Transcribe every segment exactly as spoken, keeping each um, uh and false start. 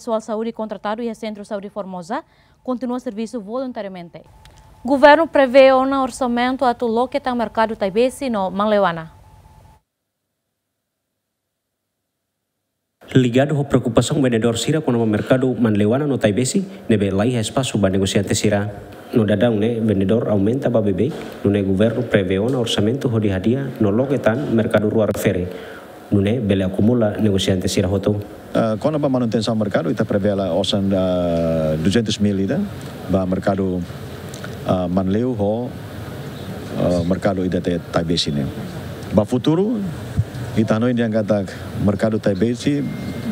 pesoál saúde kontratadu iha Sentru Saúde Formosa kontinua servisu voluntariamente. Governu prevee ona orsamentu atu loke tan merkadu Taibesi no Manleuana. Ligadu ho preokupasaun vendedór sira kona-ba merkadu Manleuana no Taibesi, ne'ebé laiha espasu ba negosiante sira. No daudaun ne'e vendedór aumenta ba beibeik, nune'e governu prevee ona orsamentu hodi hadi'a no loke tan merkadu rua refere, nune'e bele akumula negosiante sira hotu. Ah, kona-ba manutensaun merkadu, ita prevee la osan, ah, duzentos mil ida ba merkadu, ah, Manleu ho, ah, merkadu ida te Taibesi ne'e. Ba futuru, ita hanoin dehan katak merkadu Taibesi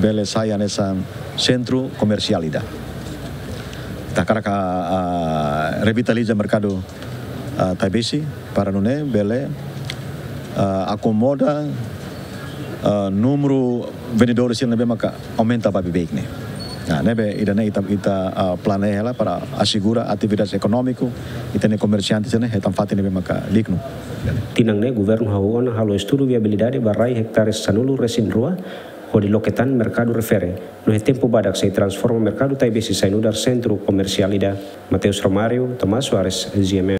bele sai hanesan sentru komersiál ida. Ita hakarak, ah, revitaliza merkadu, ah, Taibesi para nune'e bele, ah, akomoda, ah, númeru vendedores sira ne'ebé maka aumenta ba beibeik ne'e. Nah, ne'ebé ida-ne'e ita, ita, ah, planeia hela para asegura atividade ekonómiku ita-nia komersiante sira-ne'e hetan fatin ne'ebé maka dignu. Tinan ne'e governu hahú ona halo estudu viabilidade ba rai ektare sanulu-resin-rua hodi loke tan merkadu refere, no iha tempu badak sei transforma merkadu Taibesi sai nu'udar sentru komersiál ida. Mateus Romário, Tomás Soares, G M N.